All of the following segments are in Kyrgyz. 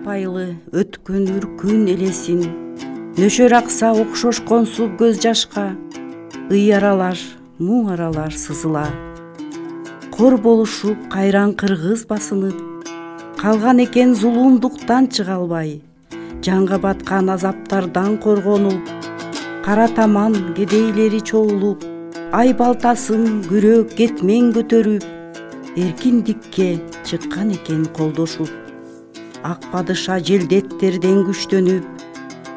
унутпайлы өткөн үркүн элесин, нөшөр акса окшошкон суу көз жашка, ый аралаш, муң аралаш сызыла. Кор болушуп кайран кыргыз басынып, калган экен зулумдуктан чыга албай, жанга баткан азаптардан коргонуп, кара таман кедейлери чогулуп, ай балтасын күрөк кетмен көтөрүп, эркиндикке чыккан экен колдошуп. Ак падыша желдеттерден күчтөнүп,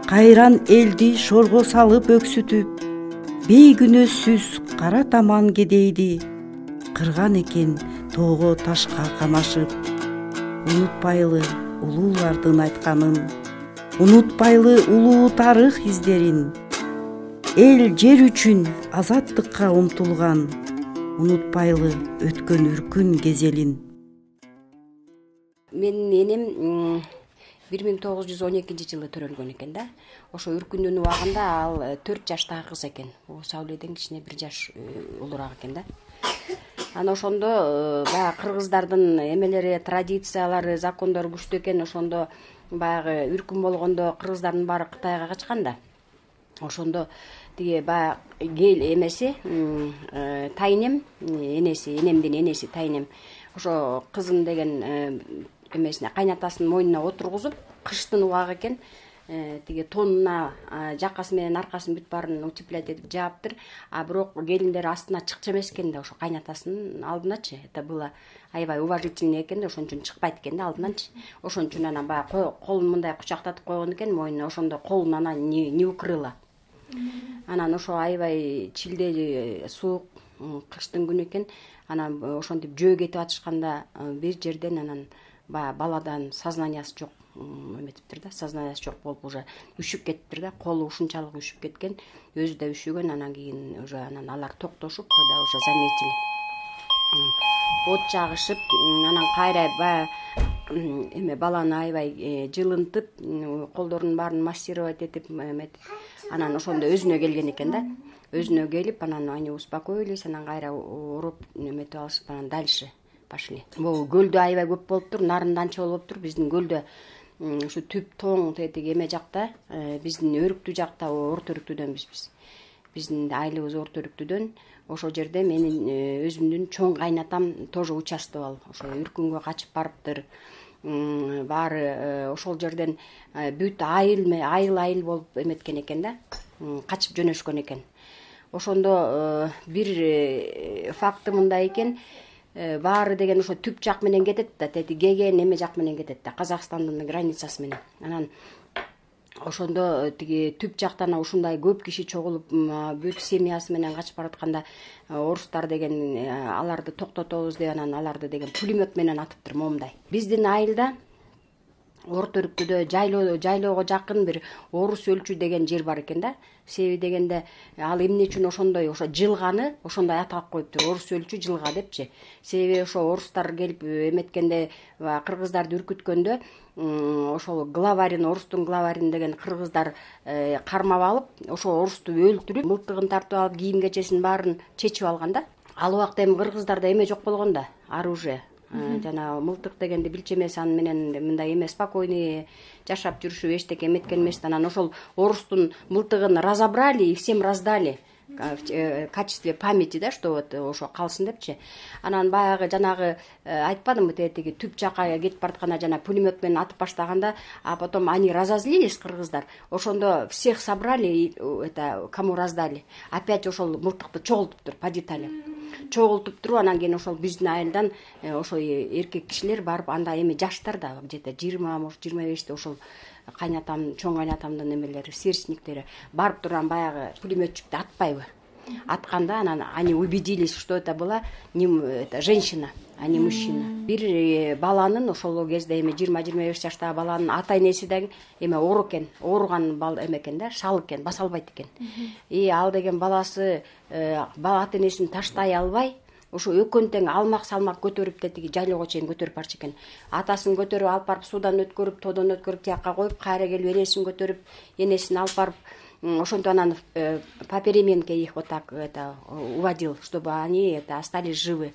кайран элди шорго салып өксүтүп, бейгүнөөсүз кара таман кедейди кырган экен тоого ташка камашып. Унутпайлы улуулардын айтканын, унутпайлы улуу тарых издерин, эл жер үчүн азаттыкка умтулган, унутпайлы өткөн үркүн кезелин. Менин энем 1912-жылы төрөлгөн экен да. Ошо үркүндүн убагында ал 4 жаштагы кыз экен. Сауледен кичине 1 жаш улураак экен да. Ана ошондо баягы кыргыздардын эмелери, традициялары, закондору күчтүү экен. Ошондо баягы үркүн болгондо кыргыздардын баары Кытайга качкан да. Ошондо тиги баягы эмеси тайнем, энеси, энемдин энеси тайнем ошо кызын деген эмесине кайнатасынын мойнуна отургузуп, кыштын убагы экен, тиги тонуна жакасы менен аркасын бүт баарын утеплять этип жааптыр. А бирок келиндер астына чыкчу эмес экен да, ошо кайнатасынын алдыначы. Это было аябай уважительный экен да, ошон үчүн чыкпайт экен да алдыначы. Ошон үчүн анан баягы колун мындай кучактатып койгон экен мойнуна, ошондо колун анан не укрыла. Анан ошо аябай чилдей суук кыштын күнү экен. Анан ошентип жөө кетип атышканда бир жерден анан баягы баладан сознаниясы жок эметиптир да, сознаниясы жок болуп уже үшүп кетиптир да, колу ушунчалык үшүп кеткен, өзү да үшүгөн. Анан кийин уже анан алар токтошуп, когда уже заметили, от жагышып, анан кайра баягы эме баланы аябай жылынтып, колдорунун баарын массировать этип эметип, анан ошондо өзүнө келген экен да. Өзүнө келип, анан они успокоились, анан кайра уруп эметип алышып, анан дальше пошли. Бул көлдө аябай көп болуптур, нарында анча болуптур. Биздин көлдө ушу түп тоң тетиги эме жакта, биздин өрүктүү жакта, орто өрүктүүдөн биз. Биздин айылыбыз орто өрүктүүдөн. Ошол жерде менин өзүмдүн чоң кайнатам тоже участвовал. Ошо үркүнгө качып барыптыр. Баары ошол жерден бүт айыл болуп эметкен экен да, качып жөнөшкөн экен. Ошондо бир факты мындай экен, баары деген ошо түп жак менен кетет да, тети кеген эме жак менен кетет да, Казакстандын границасы менен. Анан ошондо тиги түп жактан ушундай көп киши чогулуп, бүт семьясы менен качып баратканда орустар деген аларды токтотобуз деп, анан аларды деген пулемет менен атыптыр момундай. Биздин айылда орто өрүктүдө жайлоого жакын бир орус өлчү деген жер бар экен да. Себеби дегенде ал эмне үчүн ошондой ошо жылганы ошондой атап коюптур, орус өлчү жылга депчи. Себеби ошо орустар келип эметкенде, кыргыздарды үркүткөндө, ошол главарин, орустун главарин деген кыргыздар кармап алып, ошо орусту өлтүрүп, мылтыгын тартып алып, кийим кечесин баарын чечип алган да. Ал убакта эми кыргыздарда эме жок болгон да, оружие. Жана мылтык дегенди билчү эмес, аны менен мындай эме спокойный жашап жүрүшүп эчтеке эметкен эмес. Анан ошол орустун мылтыгын разобрали и всем раздали в качестве памяти, да, что вот ошо калсын депчи. Анан баягы жанагы айтпадымбы, тетиги түп жака кетип баратканда жана пулемет менен атып баштаганда, а потом они разозлились, кыргыздар. Ошондо всех собрали, это кому раздали. Опять ошол мылтыкты чогултуптур по деталям. Чогултуп туруп, анан кийин ошол биздин айылдан ошо эркек кишилер барып, анда эми жаштар да, где-то 20, может 25те ошол кайнатам, чоң кайнатамдын эмелери, сверстниктери барып турган баягы пулеметчикти атпайбы? Атканда анан они убедились, что это была это женщина, а не мужчина. Бир баланын ошол кезде эми 20-25 жаштагы баланын ата энеси да эме оор экен, ооруган эме экен да, шал экен, баса албайт экен. И ал деген баласы ата энесин таштай албай, ошо экөөнү тең алмак салмак көтөрүп тетиги жайлоого чейин көтөрүп барчу экен. Атасын көтөрүп алып барып суудан өткөрүп, тоодон өткөрүп тияка коюп, кайра келип энесин көтөрүп, энесин алып барып, ошентип анан по переменке их вот так это уводил, чтобы они это остались живы.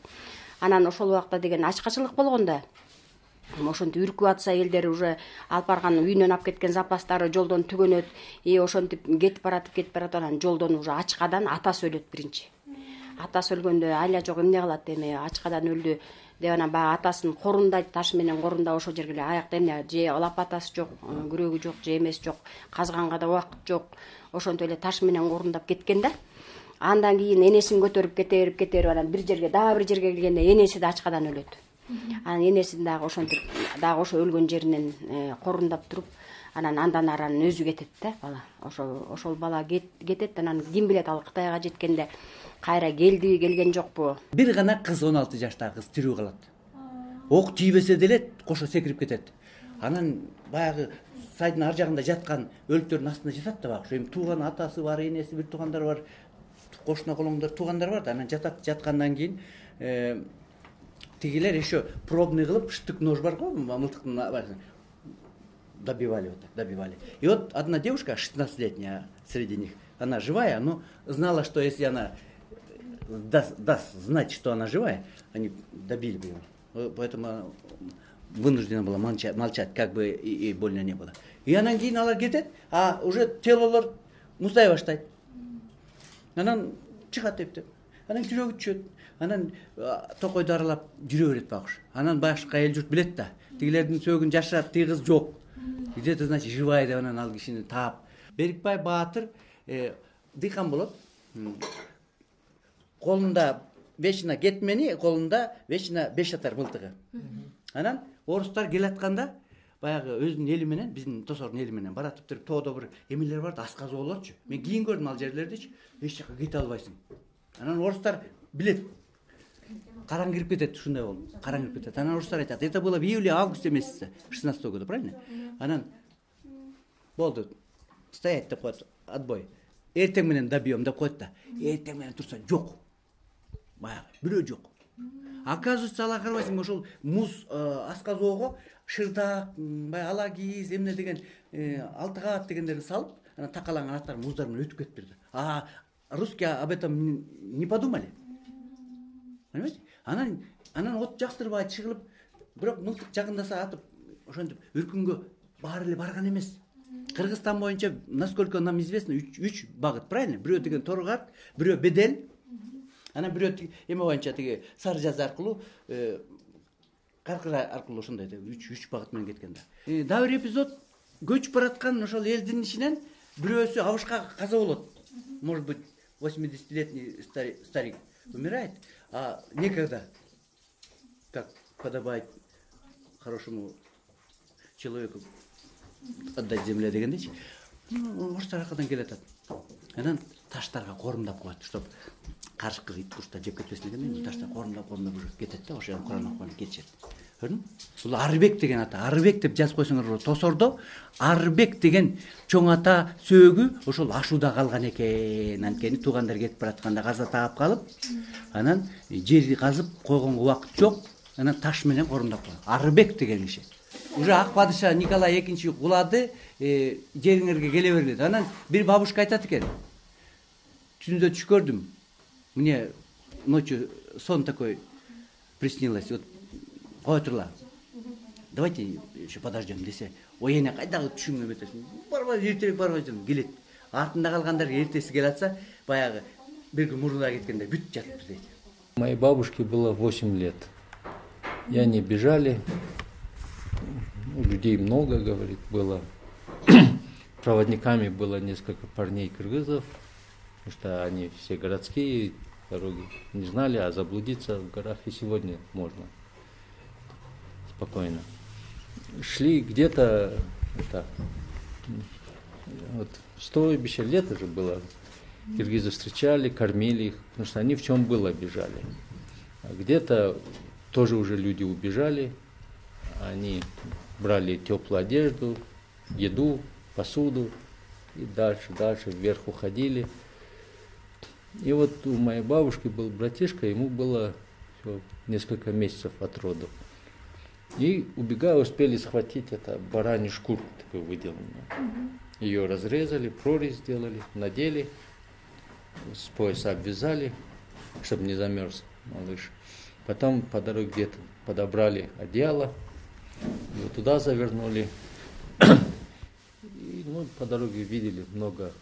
Анан ошол убакта деген ачкачылык болгон да. ошентип үркүп атса элдер уже алып барган үйүнөн алып кеткен запастары жолдон түгөнөт. Ошентип кетип баратып анан жолдон уже ачкадан атасы өлөт биринчи. Атасы өлгөндө айла жок эмне кылат, эми ачкадан өлдү деп анан баягы атасын корундайт, таш менен корундап ошол жерге эле аякта эмне же лопатасы жок, күрөгү жок, же эмеси жок, казганга да убакыт жок. Ошентип эле таш менен корундап кеткен да. Андан кийин энесин көтөрүп кетерип анан бир жерге келгенде энеси да ачкадан өлөт. Анан энесин дагы ошентип дагы ошо өлгөн жеринен корундап туруп, андан ары өзү кетет да бала. Ошол бала кетет. Анан ким билет, ал Кытайга жеткенде кайра келген жокпу. Бир гана кыз, 16 жаштагы кыз тирүү калат. Ок тийбесе деле кошо секирип кетет. Анан баягы сайдын ар жагында жаткан өлүктөрдүн астында жатат да багы. Эми тууган атасы бар, энеси, бир туугандары бар, кошуна колоңдор туугандар бар да. Анан жаткандан кийин тигилер еще пробный кылып, штык нож бар го, мылтыктын баарын добивали. И вот одна девушка 16-летняя среди них, она живая, но знала, что если она даст знать, что она живая, они добили бы ее. Поэтому вынуждена была молчать, как бы и больно не было. И анан кийин алар кетет, а уже телолор муздай баштайт. Анан чыгат деп. Анан жүрөгү түшөт. Анан токойду аралап жүрө берет багыш. Анан башка эл журт билет да. Тигилердин сөөгүн жашырат, тиги кыз жок. Где-то, значит, живая деп анан ал кишини таап. Берикбай Баатыр дыйкан болот. Колунда вечно кетмени, колунда вечно 5 атар мылтыгы. Анан орустар келатканда баягы өзүнүн эли менен, биздин тосордун эли менен баратып туруп, тоодо бир эмелер бар да, асказы болотчу. Мен кийин көрдүм ал жерлердичи, эч жака кете албайсың. Анан орустар билет. Караң кирип кетет, ушундай болду. Караң кирип кетет. Анан орустар айтат: "Это было в июле-августе месяце 16-го года, правильно?" Анан болду. Стоять деп коет, отбой. Эртең менен добьем деп коет да. Эртең менен турса жок. Баягы бирөө жок. Оказывается, ала карабайсың, ошол муз асказоого шырдак, баягы алагиз, эмне деген, алтыгат дегендерди салып, анан такалаңан аттар муздар менен өтүп кетиптир. А русские об этом не подумали. Понимаете? Анан от жактырбай чыгылып, бирок мылтык жагындаса атып, ошентип үркүнгө баары эле барган эмес. Кыргызстан боюнча, насколько нам известно, 3 багыт, правильно? Бирөө деген Торгат, бирөө Бедел, анан бирөө эме боюнча тиги Сары Жазы аркылуу, Каркыра аркылуу ошондой 3 багыт менен кеткен да. Дагы бир эпизод, көчүп бараткан ошол элдин ичинен бирөөсү абышка каза болот. Может быть, 80-летний старик умирает, а некогда, как подобает хорошему человеку, отдать земле дегендечи, орустар аркадан келатат. Анан таштарга корумдап коет, чтоб карышкы ит куштар жеп кетпесин дегенден таштар корумдап уже кетет да, ошо Куран окуган кетишет. Көрдүңбү? Бул Арыбек деген ата. Арыбек деп жазып койсоңор тосордо Арыбек деген чоң ата сөөгү ошол ашууда калган экен. Анткени туугандар кетип баратканда каза таап калып, анан жерди казып койгонго убакыт жок, анан таш менен корумдап койгон. Арыбек деген киши. Уже ак падыша Николай II кулады, жериңерге келе бергиле. Анан бир бабушка айтат экен. Түндө түш көрдүм. Мне ночью сон такой приснилось. Вот кой турла. Давайте еще подождем десе. Ой, эне кайдагы түшүңө метесиң? Барбай, эртерээк барбай жүрүм, келет. Артында калгандар эртеси келе атса, баягы бир күн мурда кеткенде бүт жатыптыр дейт. Моей бабушке было 8 лет. И они бежали. Людей много, говорит, было. Проводниками было несколько парней кыргызов, потому что они все городские, дороги не знали, а заблудиться в горах и сегодня можно спокойно. Шли где-то, вот стойбище, лето же было, киргизы встречали, кормили их, потому что они в чем было бежали. А где-то тоже уже люди убежали, они брали теплую одежду, еду, посуду и дальше вверх уходили. И вот у моей бабушки был братишка, ему было всего несколько месяцев от родов. И убегая успели схватить это баранью шкурку такую выделанную. Ее разрезали, прорезь сделали, надели, с пояса обвязали, чтобы не замерз малыш. Потом по дороге где-то подобрали одеяло, Вот туда завернули. И, ну, по дороге видели много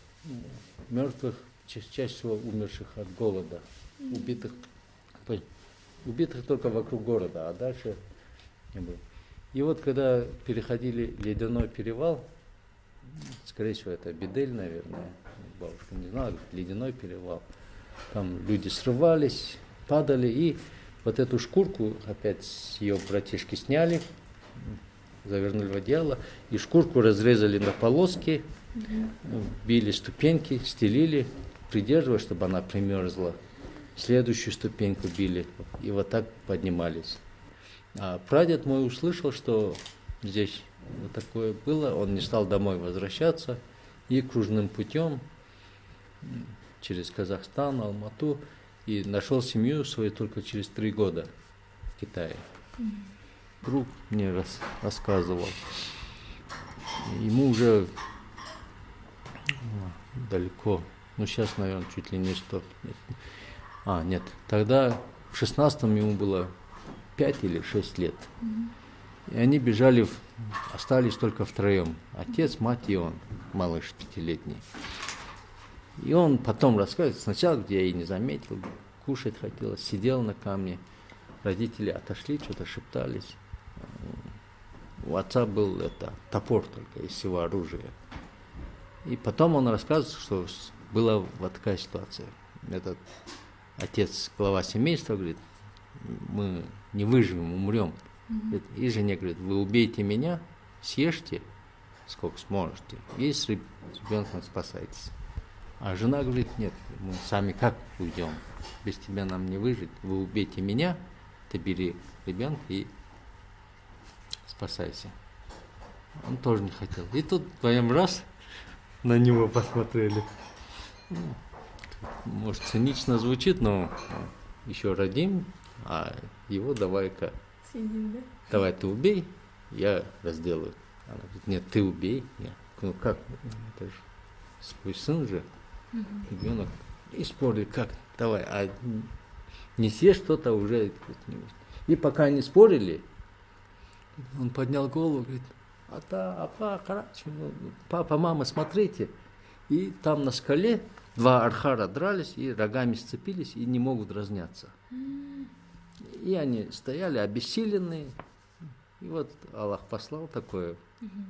мертвых, чаще всего умерших от голода, убитых только вокруг города, а дальше не было. И вот когда переходили Ледяной перевал, скорее всего это Бедель, наверное, бабушка не знала, Ледяной перевал, там люди срывались, падали, и вот эту шкурку опять с ее братишки сняли, завернули в одеяло, и шкурку разрезали на полоски, били ступеньки, стелили, придерживая, чтобы она примерзла. Следующую ступеньку били, и вот так поднимались. А прадед мой услышал, что здесь вот такое было, он не стал домой возвращаться, и кружным путем через Казахстан, Алмату, и нашел семью свою только через 3 года в Китае. Друг мне рассказывал. Ему уже далеко, ну сейчас, наверное, чуть ли не 100 лет. Нет, тогда в 16-м ему было 5 или 6 лет. И они бежали, остались только втроем. Отец, мать и он, малыш 5-летний. И он потом рассказывает, сначала, где я и не заметил, кушать хотелось, сидел на камне. Родители отошли, что-то шептались. У отца был топор только из всего оружия. И потом он рассказывает, что была вот такая ситуация. Этот отец, глава семейства, говорит, мы не выживем, умрем. И жене говорит, вы убейте меня, съешьте, сколько сможете, и с ребенком спасайтесь. А жена говорит, нет, мы сами как уйдем, без тебя нам не выжить, вы убейте меня, ты бери ребенка и спасайся. Он тоже не хотел. И тут вдвоем раз на него посмотрели. Может, цинично звучит, но еще родим, а его давай-ка, давай ты убей, я разделаю. Она говорит, нет, ты убей. Ну как, это же свой сын же, ребенок. И спорили, как, давай, а не съешь что-то уже. И пока они спорили, он поднял голову, говорит, папа, мама, смотрите. И там на скале 2 архара дрались и рогами сцепились и не могут разняться. И они стояли обессиленные. И вот Аллах послал такое.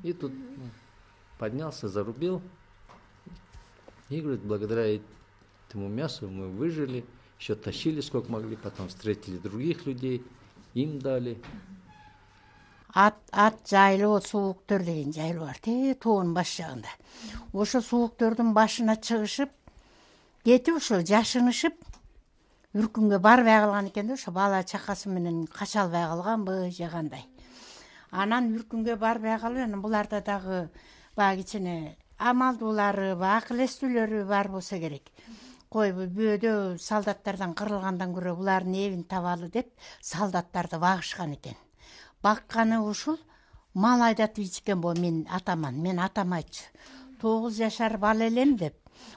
И тут поднялся, зарубил. И говорит, благодаря этому мясу мы выжили, еще тащили сколько могли, потом встретили других людей, им дали. Ат жайлоо, сууктөр деген жайлоо бар, тоонун баш жагында. Ошо сууктөрдүн башына чыгышып, кетип ошо жашынышып, үркүнгө барбай калган экен да, ошо бала чакасы менен кача албай калганбы же кандай. Анан үркүнгө барбай калып, анан буларда дагы баягы кичине амалдуулары, акыл эстүүлөрү бар болсо керек. Кой бүйөдө солдаттардан кырылгандан көрө булардын эбин табалы деп солдаттарды багышкан экен. Бакканы ушул мал айдатып ичкен бо мен атаман, мен атам айтчу. 9 жашар бала элем деп.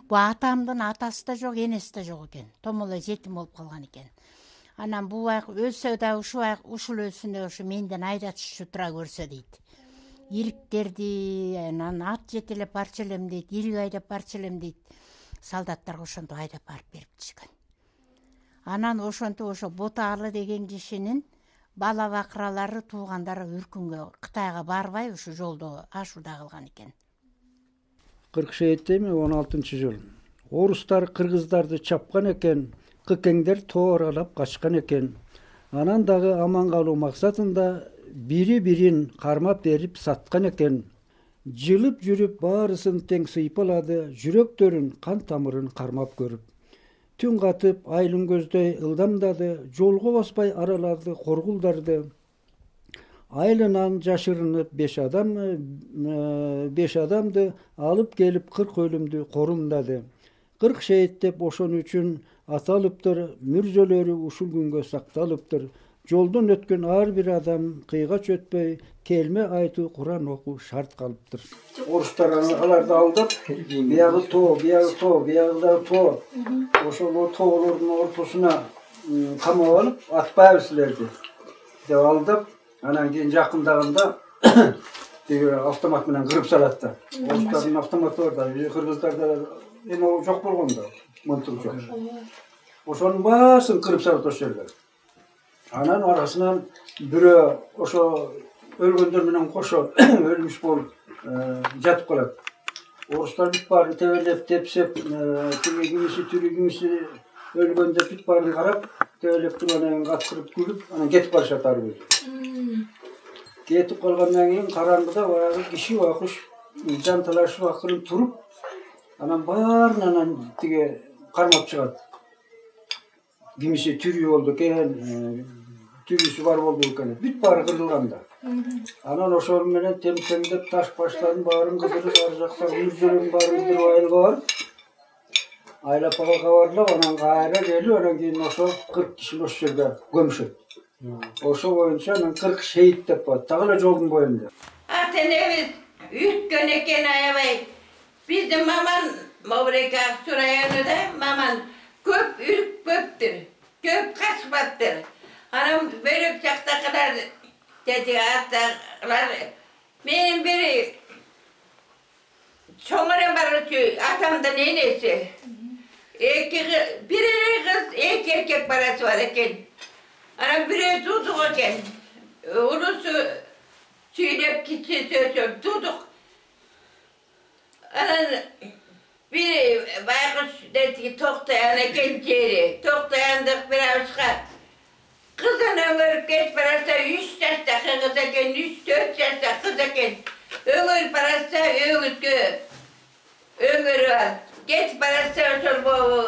Бу атамдын атасы да жок, энеси да жок экен. Томолой жетим болуп калган экен. Анан бул өлсө да ушул өлсүндө ушу менден айдатышчу тура көрсө дейт. Ириктерди, анан ат жетелеп барчу элем дейт, ирик айдап барчу элем дейт. Солдаттарга ошентип айдап барып берипчишкен. Анан ошентип ошо Боталы деген кишинин бала бакыралары, туугандары үркүнгө Кытайга барбай ушу жолдо ашууда калган экен. 47-ми 16-жыл. Орустар кыргыздарды чапкан экен, кыкеңдер тоо аралап качкан экен. Анан дагы аман калуу максатында бири-бирин кармап берип саткан экен. Жылып жүрүп баарысын тең сыйпалады, жүрөктөрүн, кан тамырын кармап көрүп. Түн катып, айлын көздөй ылдамдады, жолго баспай аралады коргулдарды. Айлынан жашырынып 5 адамды алып келип 40 өлүмдү корумдады. 40 шейиттеп ошон үчүн аталыптыр, мүрзөлөрү ушул күнгө сакталыптыр. Жолдон өткөн ар бир адам кыйгач өтпөй келме айтуу, Куран окуу шарт калыптыр. Орустар аларды алдып, биягы тоо, биягы тоо. Ошол тоолордун ортосуна камап алып, атпайбы силерди деп алдап, Анан кийин жакындаганда тиги автомат менен кырып салат да. Орустардын автоматы бар да, кыргыздарда эме жок болгон да, мылтык жок. Ошонун баасын кырып салат ошол жерге. Анан арасынан бирөө ошо өлгөндөр менен кошо өлмүш болуп жатып калат. Орустар бүт баарын тебелеп, тепсеп, тиги кимиси тирүү, кимиси өлгөндө бүт баарын карап, тебелеп тургандан кийин каткырып күлүп, анан кетип калышат ары бери. Кетип калгандан кийин караңгыда баягы киши байкуш жан талашып акырын туруп, анан баарын анан тиги кармап чыгат. Кимиси тирүү болду экен, тирүүсү бар болду экен. Бүт баары кырылган да. Анан ошол менен темтемдеп таш баштарын баарын кыдырып, ар жакта мүрзөлөрдүн баарын кыдырып айылга барып, айлап ага кабарлап, анан кайра келип, анан кийин ошо 40 кишини ошол жерде көмүшөт. Ошо боюнча анан 40 шейит деп коет, так эле жолдун боюнда. Ата энебиз үйткөн экен аябай. Биздин маман Мобрека Аксу районунда маман көп үркпөптүр, көп качпаптыр. Анан бөлөк жактакылар деди аталар менин бири чоңорем барчу атамдын энеси. Бир кыз, эки эркек баласы бар экен. Анан бирөө туудук экен. Улусу сүйдөп кичи сөзөп туудук. Анан бир байкуш деди токтоян экен жери. Токтояндык бир абышка кызын өңөрүп кетип баратса 3 жашта кыз экен, 3-4 жашта кыз экен. Өңөрүп баратса өгүткө өңөрүп алып кетип баратса ошол могу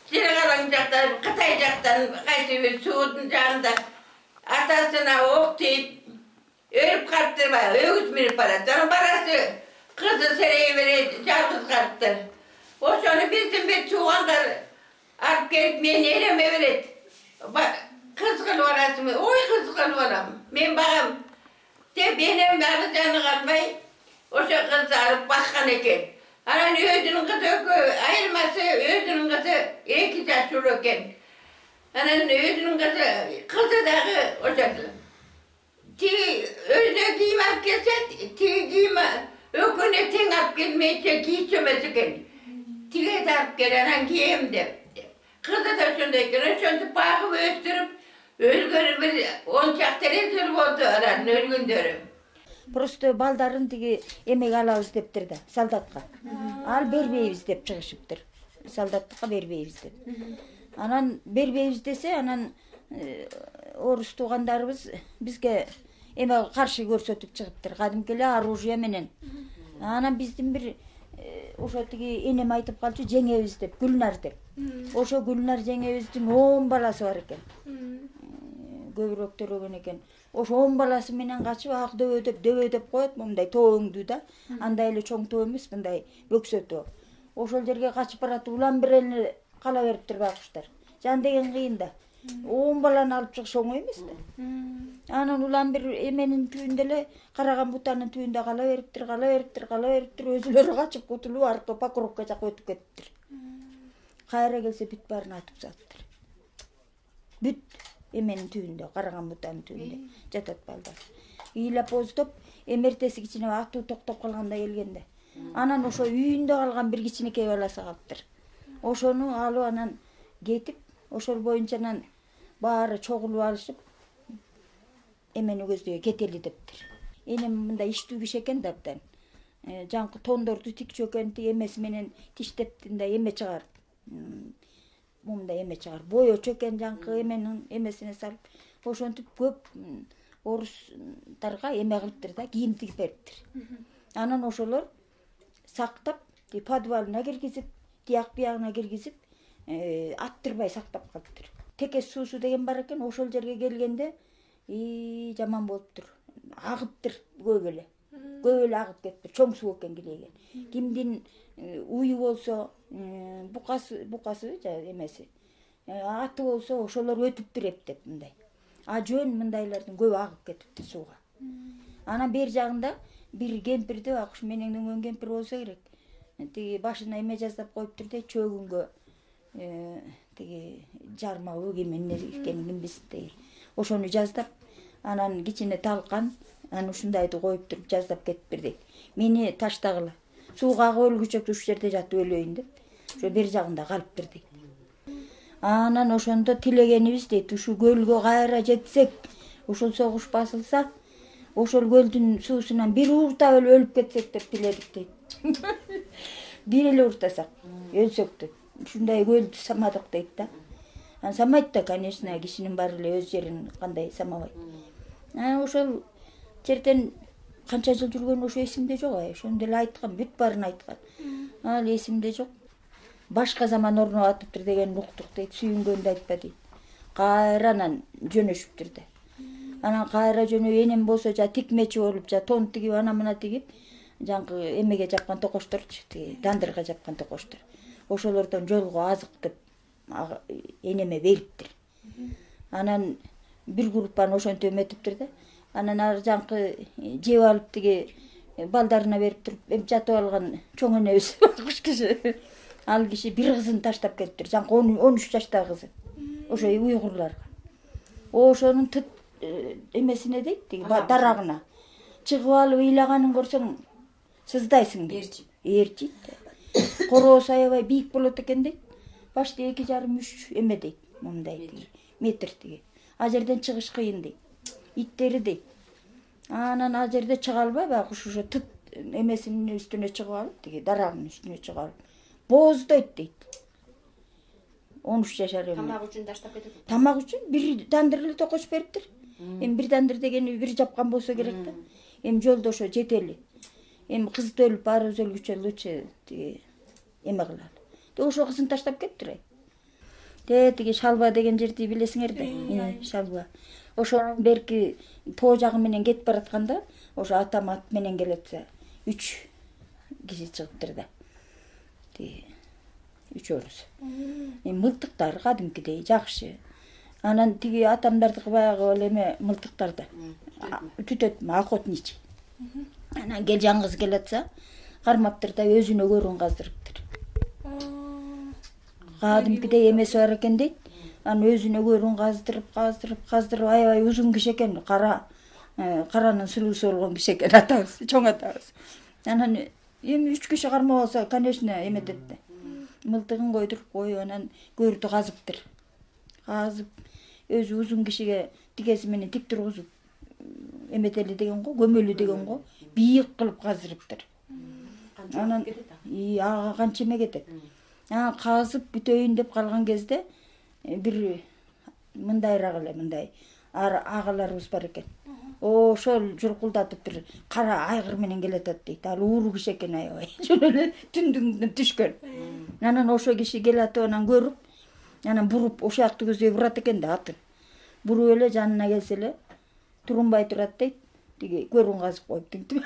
Чыргалаң жактан, Кытай жактан кайсы бир суудун жанында атасына ок тийип өлүп калыптыр, өгүз минип барат. Анан барасы кызы серей берет, жалгыз калыптыр. Ошону биздин бир туугандар алып келип мени элеме берет. Кыз кылып аласыңбы? Ой, кыз кылып алам. Мен багам деп энем ары жаны калбай ошо кызды алып баккан экен. Анан өзүнүн кызы айырмасы, өзүнүн кызы 2 жаш улуу экен. Анан өзүнүн кызы дагы ошо тиги өзүнө кийим алып келсе, тиги кийим экөөнө тең алып келмейче кийчү эмес экен. Тиге алып кел, анан кийем деп. Кызы да ошондой экен, ошентип багып өстүрүп, өлгөнү бир 10 чакты эле жыл болду анан өлгөндөрү. Просто балдарын тиги эмеге алабыз дептир да, солдатка. Ал бербейбиз деп чыгышыптыр. Солдаттыкка бербейбиз деп. Анан бербейбиз десе, анан орус туугандарыбыз бизге эме каршы көрсөтүп чыгыптыр. Кадимки эле оружие менен. Анан биздин бир ошо тиги энем айтып калчу, жеңебиз деп, Гүлнар деп. Ошо Гүлнар жеңебиздин 10 баласы бар экен. Көбүрөөк төрөгөн экен. Ошо 10 баласы менен качып ак дөбөдөп коет, мындай тоо өңдүү да. Андай эле чоң тоо эмес, мындай бөксө тоо. Ошол жерге качып барат, улам бир эле кала бериптир байкуштар. Жан деген кыйын да. 10 баланы алып чыгыш оңой эмес да. Анан улам бир эменин түбүндө эле, караган бутанын түбүндө кала бериптир, өзүлөрү качып кутулуп, аркы Покровка жака өтүп кетиптир. Кайра келсе бүт баарын атып саттыр. Бүт эменин түбүндө, караган бутанын түбүндө жатат балдар. Ыйлап оздоп, эмертеси кичине атуу токтоп калганда келгенде. Анан ошо үйүндө калган бир кичинекей баласы калыптыр. Ошону алып анан кетип, ошол боюнча анан баары чогулуп алышып, эмени көздөй кетели дептир. Энем мындай иштүү киши экен да абдан. Жаңкы тондорду тикчү экен, эмеси менен тиштеп мындай эме чыгарып. Мындай эме чыгарып, боечу экен жаңкы эменин эмесине салып, ошентип көп орустарга эме кылыптыр да, кийим тигип бериптир. Анан ошолор сактап, подвалына киргизип, тияк биягына киргизип, аттырбай сактап калыптыр. Текес суусу деген бар экен, ошол жерге келгенде жаман болуптур. Агыптыр көп эле агып кетиптир. Чоң суу экен килеген. Кимдин уyu болсо, букасы эмеси, аты болсо ошолор өтүптүр эптеп мындай. Жөн мындайлардын көбү агып кетиптир сууга. Анан бер жагында бир кемпирди байкуш менен өңгөн кемпир болсо керек. Тиги башына эме жаздап коюптур да, чөгүнгө тиги жармабы кимин экенин ким билсин. Ошону жаздап, анан кичине талкан, анан ушундайды коюп туруп жаздап кетиптир дейт. Мени таштагыла. Сууга агып өлгүчө ушул жерде жатып өлөйүн деп. Ошо бер жагында калыптыр дейт. Анан ошондо тилегенибиз дейт, ушу көлгө кайра жетсек, ошол согуш басылса, ошол көлдүн суусунан бир ууртап өлүп кетсек деп тиледик дейт. Бир эле ууртасак, өлсөк деп. Ушундай көлдү самадык дейт да. Анан самайт да, конечно, кишинин баары эле өз жерин кандай самабайт. Ошол жерден канча жыл жүргөн ошо эсимде жок, ошондо эле айткан, бүт баарын айткан. Ал эсимде жок. Башка заман орнуп атыптыр деген уктук дейт, сүйүнгөндү айтпа дейт. Кайра анан жөнөшүптүр да. Анан кайра жөнөп энем болсо жа тикмечи болуп, жа тон тигип, ана мына тигип, жаңкы эмеге жапкан токошторчу, дандырга жапкан токоштор. Ошолордон жолго азыктып энеме бериптир. Анан бир группаны ошентип эметиптир да. Анан ар жаңкы жеп алып тиги балдарына берип туруп, жатып алган чоң энебиз куш киши. Ал киши бир кызын таштап кетиптир, жаңкы 13 жаштагы кызы. Ошо уйгурларга. Ошонун эмесине дейт, тиги дарагына чыгып алып ыйлаганын көрсөң сыздайсың дейт. Ээрчийт. Короосу аябай бийик болот экен дейт. Башты 2,5-3 эме дейт, мындай метр тиги. А жерден чыгыш кыйын дейт. Иттери дейт. Анан ал жерде чыга албай, баягы ошо тыт эмесинин үстүнө чыгып алып, тиги дарагынын үстүнө чыгып алып бооздойт дейт. 13 жашар эме. Тамак үчүн таштап кетет. Тамак үчүн бир дандыр эле токош бериптир. Эми бир дандыр дегени бир жапкан болсо керек да. Эми жолдо ошо жетели. Эми кызды өлүп, баарыбыз өлгүчө лучше тиги эме кылалы. Ошо кызын таштап кетиптир. Тиги Шалба деген жерди билесиңер да. Шалба. Ошонун берки тоо жагы менен кетип баратканда, ошо атам ат менен келетсе, 3 киши чыгыптыр да. Тиги үчөөбүз. Эми мылтыктар кадимкидей жакшы. Анан тиги атамдардыкы баягы эле эме мылтыктарды түтөт, охотничий. Анан жалгыз келатса, кармаптыр да өзүнө көрүн каздырыптыр. Кадимкидей эмеси бар экен дейт. Анан өзүнө көрүн каздырып аябай узун киши экен, каранын сулуусу болгон киши экен атабыз, чоң атабыз. Анан эми 3 киши кармап алса, конечно, эметет да. Мылтыгын койдуруп коюп, анан көрдү казыптыр. Казып, өзү узун кишиге тигеси менен тик тургузуп эметели деген го, көмөлү деген го, бийик кылып каздырыптыр. Анан ага канча эме кетет. Анан казып бүтөйүн деп калган кезде бир мындайраак эле мындай агаларыбыз бар экен. Ошол журкулдатып бир кара айгыр менен келатат дейт. Ал ууру киши экен аябай. Ошол эле түндүн түшкөн. Анан ошо киши келатып анан көрүп, анан буруп ошол жакты көздөй бурат экен да атын. Буруп эле жанына келсе эле турунбай турат дейт. Тиги көрүн казып коюп тинтип.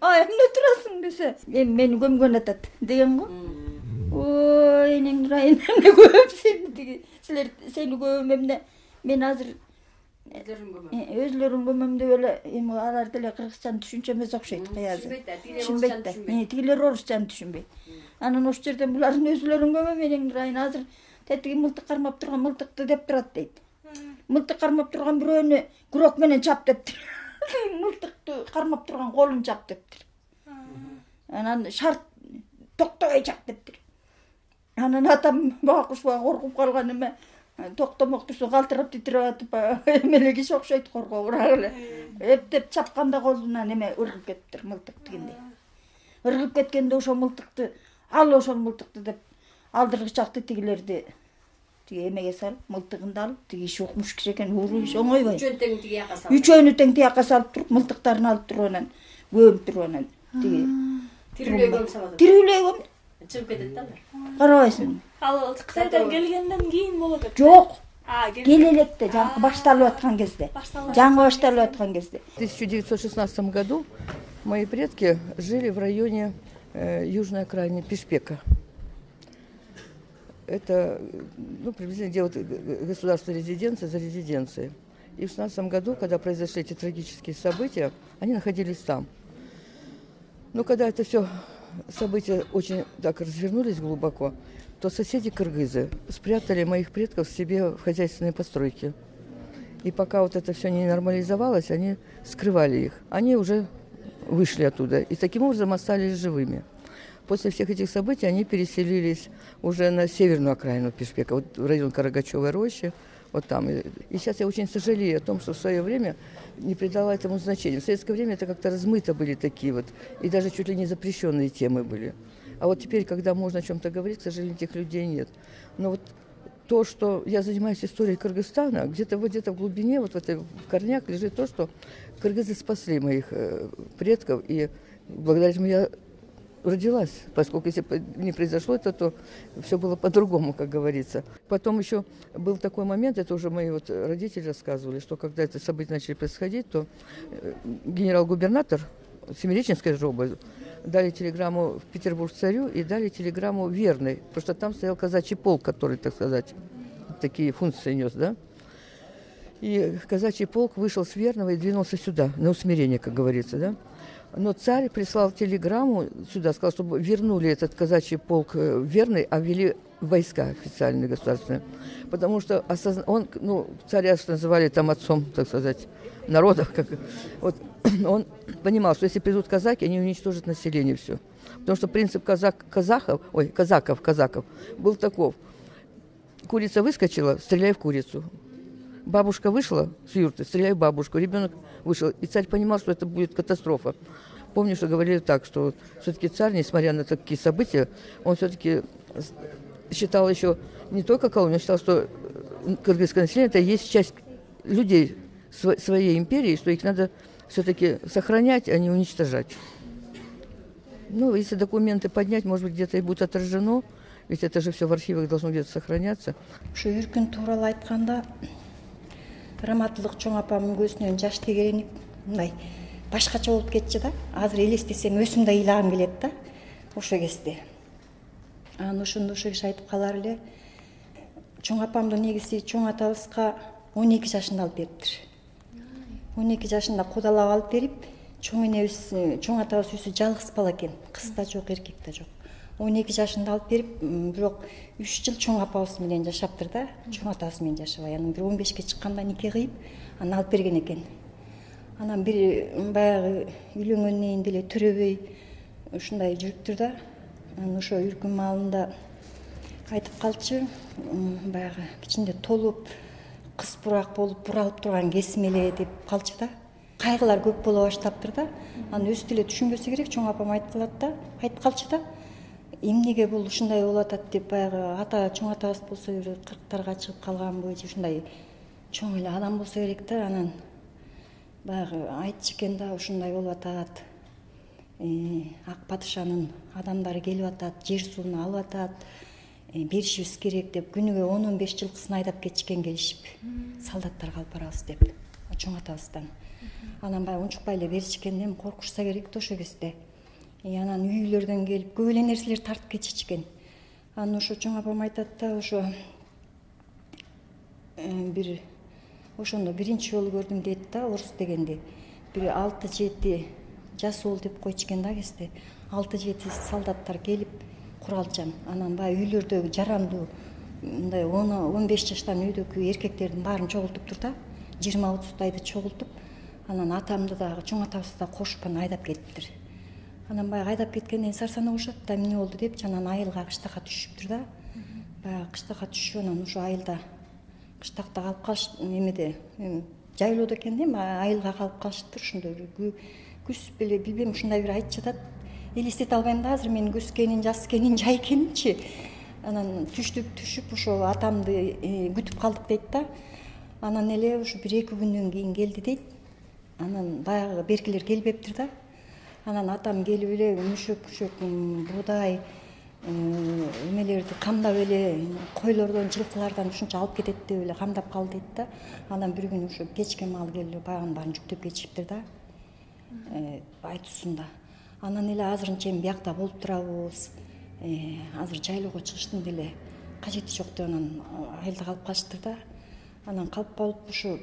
Анан эмне турасың десе, эми мени көмгөн атат деген го. Ой, энең Нурайым эмне көмсүң тиги. Силер сени көмөм эмне? Мен азыр өзлөрүн көмөм деп эле эми алар деле кыргызчаны түшүнчө эмес окшойт кыязы. Түшүнбөйт да. Тигилер орусчаны түшүнбөйт. Анан ошол жерден булардын өзлөрүн көмөм энең Нурайым азыр тетиги мылтык кармап турган мылтыкты деп турат дейт. Мылтык кармап турган бирөөнү күрөк менен чап дептир. Мылтыкты кармап турган колун чап дептир. Анан шарт токтобой чап дептир. Анан атам бакушпа коркуп калган эме токтомок турса калтырап титиреп атып эмеле киши окшойт, коркобураак эле. Эптеп чапканда колунан эме ыргып кетиптир мылтык тигиндей. Ыргып кеткенде ошол мылтыкты ал ошол мылтыкты деп алдыргычакты тигилерди тиги эмеге салып, мылтыгын да алып, тиги иши укмуш киши экен, ууру иш оңойбой. Үчөөнү тең тиги жака салып. Үчөөнү тең тияка салып туруп, мылтыктарын алып туруп анан көмүп туруп анан тиги тирүүлөй көмүп салат. Тирүүлөй көмүп чыгып кетет да алар. Карабайсың. Ал Кытайдан келгенден кийин болот экен. Жок. Кел электе, жаңы башталып аткан кезде. Жаңы башталып аткан кезде. В 1916 году мои предки жили в районе южной окраины Пишпека. Это приблизительно где вот государственная резиденция за резиденцией. И в 1916 году, когда произошли эти трагические события, они находились там. Но когда это все события очень так развернулись глубоко, то соседи кыргызы спрятали моих предков себе в хозяйственные постройки. И пока вот это все не нормализовалось, они скрывали их. Они уже вышли оттуда и таким образом остались живыми. После всех этих событий они переселились уже на северную окраину Пишпека, вот в район Карагачевой рощи, вот там. И сейчас я очень сожалею о том, что в свое время не придала этому значения. В советское время это как-то размыто были такие вот, и даже чуть ли не запрещенные темы были. А вот теперь, когда можно о чем-то говорить, к сожалению, этих людей нет. Но вот то, что я занимаюсь историей Кыргызстана, где-то в глубине, вот в этой в корнях лежит то, что кыргызы спасли моих предков, и благодаря этому я родилась, поскольку если бы не произошло это, то все было по-другому, как говорится. Потом еще был такой момент, это уже мои вот родители рассказывали, что когда это события начали происходить, то генерал-губернатор Семиреченской жобы дали телеграмму в Петербург царю и дали телеграмму Верной, потому что там стоял казачий полк, который, так сказать, такие функции нес, да. И казачий полк вышел с Верного и двинулся сюда, на усмирение, как говорится, да. Но царь прислал телеграмму сюда, сказал, чтобы вернули этот казачий полк Верный, а ввели войска официальные, государственные. Потому что он, царя называли там отцом, так сказать, народов. Вот, он понимал, что если придут казаки, они уничтожат население все. Потому что принцип казаков был таков. Курица выскочила, стреляй в курицу. Бабушка вышла с юрты, стреляй в бабушку. Ребенок вышел. И царь понимал, что это будет катастрофа. Помню, что говорили так, что все-таки царь, несмотря на такие события, он все-таки считал еще не только колонию, он считал, что кыргызское население это есть часть людей своей империи, что их надо все-таки сохранять, а не уничтожать. Ну, если документы поднять, может быть, где-то и будет отражено, ведь это же все в архивах должно где-то сохраняться. Раматтылык чоң апамдын көзүнөн жаш тегеренип, мындай башкача болуп кетчү да. Азыр элестесем өзүм да ыйлагым келет да. Ошо кезде. Анан ошондо ошо киши айтып калар эле. Чоң апамдын негизи чоң атабызга 12 жашында алып бериптир. 12 жашында кодалап алып берип, чоң энебиз, чоң атабыз өзү жалгыз бала экен. Кыз да жок, эркек да жок. 12 жашында алып берип, бирок 3 жыл чоң апабыз менен жашаптыр да, чоң атабыз менен жашабай. Анан бир 15ке чыкканда нике кыйып, анан алып берген экен. Анан бир баягы үйлөнгөндөн деле төрөбөй ушундай жүрүптүр да. Анан ошо үркүн маалында айтып калчу, баягы кичинде толуп, кыз бурак болуп, буралып турган кезим эле деп калчу да. Кайгылар көп боло баштаптыр да. Анан өзү деле түшүнбөсө керек, чоң апам айтып калат да, айтып калчу да. Эмнеге бул ушундай болуп атат деп баягы чоң атабыз болсо бир 40-тарга чыгып калган же ушундай чоң эле адам болсо керек да. Анан баягы айтчу экен да, ушундай болуп атат. Ак падышанын адамдары келип атат, жер сууну алып атат, беришибиз керек деп күнүгө 10-15 жылкысын айдап кетишкен келишип, солдаттарга алып барабыз деп чоң атабыздан. Анан баягы унчукпай эле беришкен, эми коркушса керек да ошо кезде. Анан үйлөрдөн келип көп эле нерселер тартып кетишкен. Анан ошо чоң апам айтат да, ошо бир ошондо биринчи жолу көрдүм дейт да, орус дегенди. Бир 6-7 жас уул деп койчукен да кезде. 6-7 солдаттар келип куралчан. Анан баягы үйлөрдөгү жарандуу мындай 10-15 жаштан үйдөгү эркектердин баарын чогултуптур да. 20-30 чогултуп, анан атамды дагы чоң атабызды да кошуп айдап кетиптир. Анан баягы айдап кеткенден сарсана ушат да эмне болду деп, анан айылга кыштакка түшүптүр да. Баягы кыштакка түшүп, анан ошо айылда кыштакта калып калыш, эмеде жайлоодо экен да, айылга калып калышыптыр. Ошондо күз беле билбейм, ушундай бир айтып жатат. Элестете албайм да азыр менин күз экенин, жаз экенин, жай экенинчи. Анан түшүп ошо атамды күтүп калдык дейт да. Анан эле ушу 1-2 күндөн кийин келди дейт. Анан баягы беркилер келбептир да. Анан атам келип эле мүшөк буудай эмелерди камдап эле койлордон, жылкылардан ушунча алып кетет деп эле камдап калды дейт да. Анан бир күн ушу кечке маал келип баягынын баарын жүктөп кетишиптир да. Айтуусунда. Анан эле азырынча эми биякта болуп турабыз. Азыр жайлоого чыгыштын деле кажети жок деп анан айылда калып калыштыр да. Анан калып калып ушу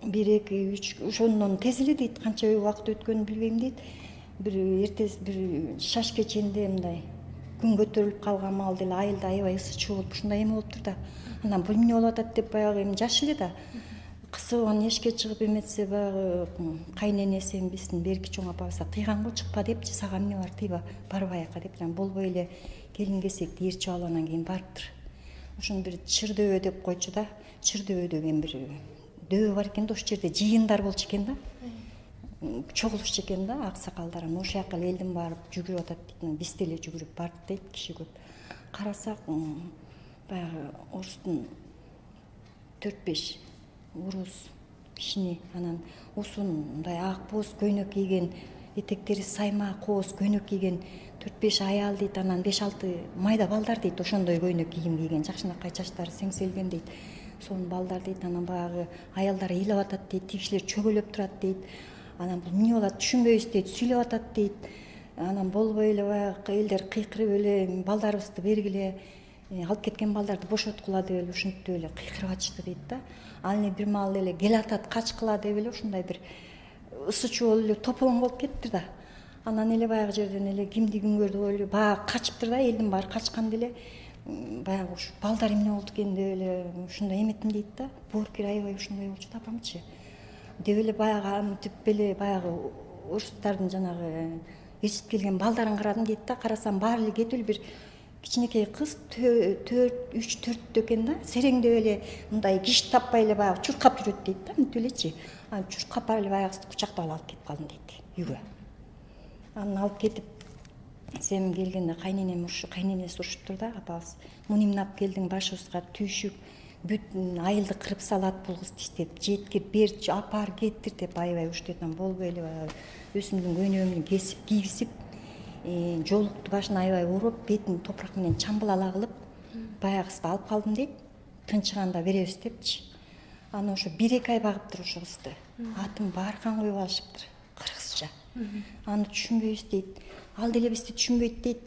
1-2-3 ошондон тез эле дейт, канча убакыт өткөнүн билбейм дейт. Бир эртеси бир шаш кечинде мындай күн көтөрүлүп калган маалда эле айылда аябай ысы чуу болуп ушундай эме болуптур да. Анан бул эмне болуп атат деп баягы эми жаш эле да. Кысыбан эшикке чыгып эметсе баягы кайненеси эми биздин берки чоң апабыз тыйган го чыкпа депчи, сага эмне бар тыйба, барбай ака деп. Анан болбой эле келин кесекти ээрчип алып анан кийин барыптыр. Ошону бир чыр-дөбө деп койчу да. Чыр-дөбө деген бир дөбө бар экен да, ошол жерде жыйындар болчу экен да. Чогулушчу экен да аксакалдар. Ошол жака элдин барып жүгүрүп атат дейт. Биз деле жүгүрүп бардык дейт, киши көп. Карасак баягы орустун 4-5 уруз кишини, анан узун мындай ак боз көйнөк кийген, этектери сайма кооз көйнөк кийген 4-5 аял дейт. Анан 5-6 майда балдар дейт. Ошондой көйнөк кийим кийген, жакшынакай чачтары сеңселген дейт. Сонун балдар дейт. Анан баягы аялдар ыйлап атат дейт, тигишилер чөгөлөп турат дейт. Анан бул эмне болот түшүнбөйбүз дейт, сүйлөп атат дейт. Анан болбой эле баягы элдер кыйкырып эле балдарыбызды бергиле, алып кеткен балдарды бошоткула деп эле ушинтип эле кыйкырып атышты дейт да. Ал эми бир маал эле кел атат качкыла деп эле ушундай бир ысы чуу болуп эле тополоң болуп кетти да. Анан эле баягы жерден эле кимди ким көрдү деп эле баягы качыптыр да, элдин баары качкан деле баягы ушу балдар эмне болду экен деп эле ушундай эметим дейт да. Боорукер аябай ушундай болчу да апамчы. Деп эле баягы антип эле баягы орустардын жанагы ээрчитип келген балдарын карадым дейт да. Карасам баары эле кетип эле бир кичинекей кыз 3-4 экен да. Сереңдеп эле мындай киш таппай эле баягы чуркап жүрөт дейт да, мынтип элечи. Анан чуркап барып эле баягысты кучактап алып кетип калдым дейт үйгө. Анан алып кетип сен келгенде кайненеси урушуптур да апабыз. Муну эмне алып келдиң, башыбызга түйшүк, бүт айылды кырып салат бул кыз деп, жеткир берчи, апар кеттир деп аябай уруштуп. Анан болбой эле баягы өзүмдүн көйнөгүмдү кесип кийгизип, жолукту башына аябай уруп, бетин топурак менен чамбылала кылып, баягысты алып калдым дейт. Тынчыганда беребиз депчи. Аны ошо 1-2 ай багыптыр ошо кызды. Атын Бааркан коюп алышыптыр, кыргызча. Аны түшүнбөйбүз дейт. Ал деле бизди түшүнбөйт дейт.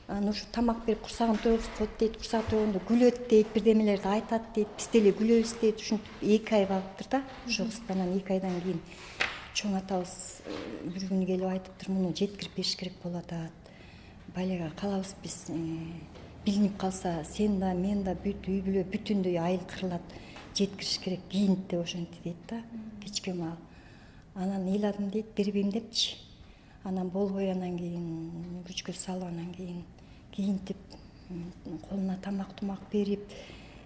Аны ушу тамак берип курсагын тойгузуп коет дейт. Курсагы тойгондо күлөт дейт, бирдемелерди айтат дейт. Биз деле күлөбүз дейт. Ушинтип 2 ай багыптыр да. Ошо кызды анан 2 айдан кийин чоң атабыз бир күнү келип айтыптыр, муну жеткирип бериш керек болуп атат. Балега калабыз биз билинип калса, сен да, мен да бүт үй бүлө бүтүндөй айыл кырылат. Жеткириш керек, кийинт деп ошентти дейт да. Кечке маал. Анан ыйладым дейт, бербейм депчи. Анан болбой анан кийин күчкө салып анан кийин кийинтип колуна тамак берип,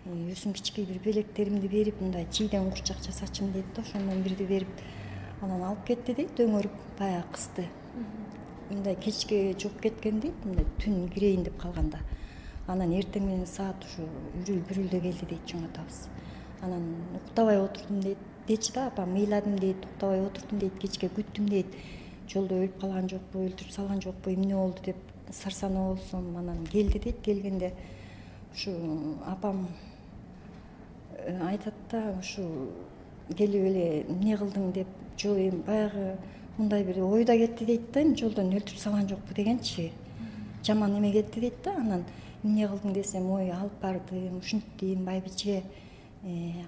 өзүм кичкей бир белектеримди берип, мындай чийден курчак жасачым дейт да, ошондон бирди берип анан алып кетти дейт, өңөрүп баягы кызды. Мындай кечке жугуп кеткен дейт, мындай түн кирейин деп калганда. Анан эртең менен саат ушу үрүл-бүрүлдө келди дейт чоң атабыз. Анан уктабай отурдум дейт. Дечи да апам, ыйладым дейт, уктабай отурдум дейт, кечке күттүм дейт. Жолдо өлүп калган жокпу, өлтүрүп салган жокпу, эмне болду деп сарсанаа болсом, анан келди дейт. Келгенде ушу апам айтат да, ушу келип эле эмне кылдың деп, жол эми баягы мындай бир ойда кетти дейт да, эми жолдон өлтүрүп салган жокпу дегенчи. Жаман эме кетти дейт да. Анан эмне кылдың десем, ой алып бардым, ушинттим, байбиче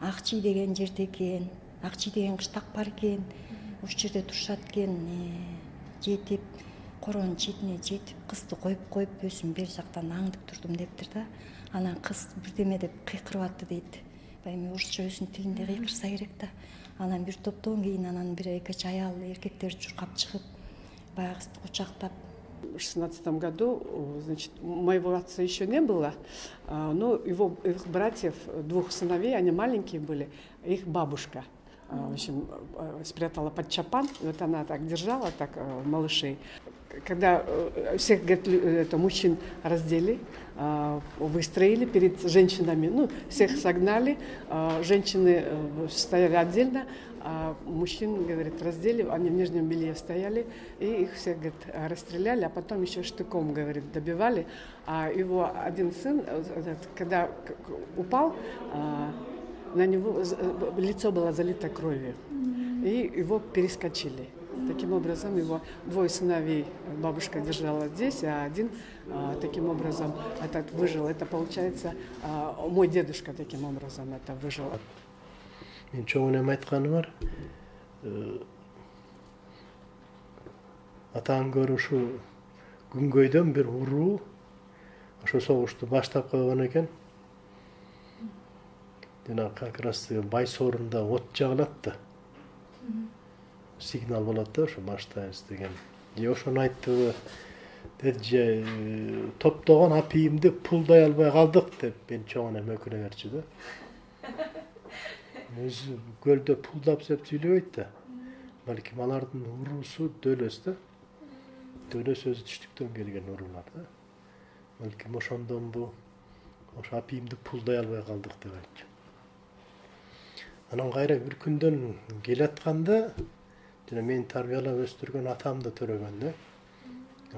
Акчий деген жерде экен, Акчий деген кыштак бар экен, ушул жерде турушат экен, жетип коронун четине жетип кызды коюп өзүм бери жактан аңдып турдум дептир да. Анан кыз бирдеме деп кыйкырып атты дейт. Эми орусча өзүнүн тилинде кыйкырса керек да. Анан бир топтон кийин анан бир 2 аял эркектер чуркап чыгып баягысты кучактап. В 16 году, значит, моего отца еще не было, но их братьев, 2 сыновей, они маленькие были, их бабушка, в общем, спрятала под чапан, и вот она так держала, так малышей. Когда всех, говорит, мужчин раздели, выстроили перед женщинами, ну, всех согнали, женщины стояли отдельно, а мужчин, говорит, раздели, они в нижнем белье стояли, и их всех, говорит, расстреляли, а потом еще штыком, говорит, добивали. А его один сын, когда упал, на него лицо было залито кровью, и его перескочили. Таким образом, его 2 сыновей бабушка держала здесь, а один таким образом этот выжил. Это получается, мой дедушка таким образом это выжил. Мен чоңунан айтканы бар. Атаң көрү ушу күнгөйдөн бир уруу ошо согушту баштап койгон экен. Жана как раз Байсорунда от жагылат да. Сигнал болот да, ошо баштайбыз деген. Же ошону айтты, деди, топтогон апийимди пулдай албай калдык деп мен чоң эне өкүнө берчү да. Өзү көлдө пулдап деп сүйлөбөйт да. Балким алардын уруусу дөөлөс да. Дөөлөс өзү түштүктөн келген уруулар да. Балким ошондон бу ошо апийимди пулдай албай калдык деп айтчу. Анан кайра бир күндөн келатканда жана мен тарбиялап өстүргөн атамды төрөгөн да.